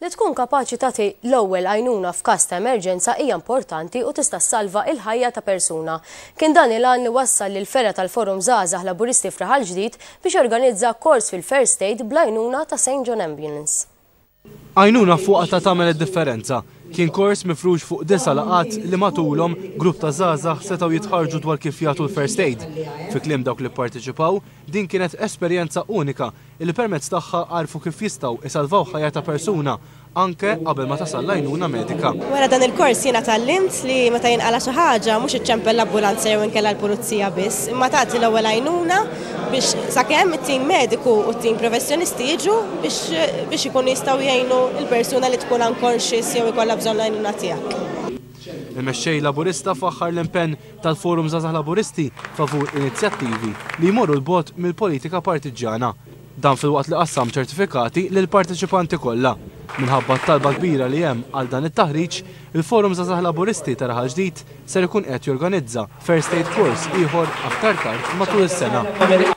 Li tkun kapaċi tagħti l-ewwel għajnuna f'każ ta' emerġenza hija importanti u tista' ssalva il-ħajja ta' persuna. Kien dan il-għan li wassal lil fergħa tal-Forum Żgħażagħ Laburisti f'Raħal Ġdid biex jorganizza kors fil-First Aid bl-għajnuna ta' St. John Ambulance. Għajnuna f'waqtha tagħmel id-differenza. Kien kors mifrux fuq disa' laqgħat li matulhom grupp ta' żgħażagħ setgħu jitħarrġu dwar kif jagħtu l-first aid. Fi kliem dawk li pparteċipaw, din kienet esperjenza unika li permezz tagħha għarfu kif jistgħu isalvaw ħajja ta' persuna anke qabel ma tasal l-għajnuna medika. Wara dan il-kors jiena tgħallimt li meta jinqala' xi ħaġa mhux iċċempel l-ambulanza jew inkella l-pulizija biss, imma tagħti l-ewwel għajnuna biex sakemm it-tim mediku u t-tim professjonisti jiġu biex biex ikunu jistgħu jgħinu l-persuna li tkun unconscious jew ikollha bżonn l-għajnuna tiegħek. Il-Mexxej Laburista faħħar l-impenn tal-Forum Żgħażagħ Laburisti favur inizjattivi li jmorru 'l bogħod mill-politika partiġġjana. Dan filwaqt li qassam ċertifikati lill-parteċipanti kollha. Minħabba t-talba kbira li hemm għal dan it-taħriġ, il-Forum Żgħażagħ Laburisti ta' Raħal Ġdid ser ikun qed jorganizza First Aid Course ieħor aktar tard matul is-sena.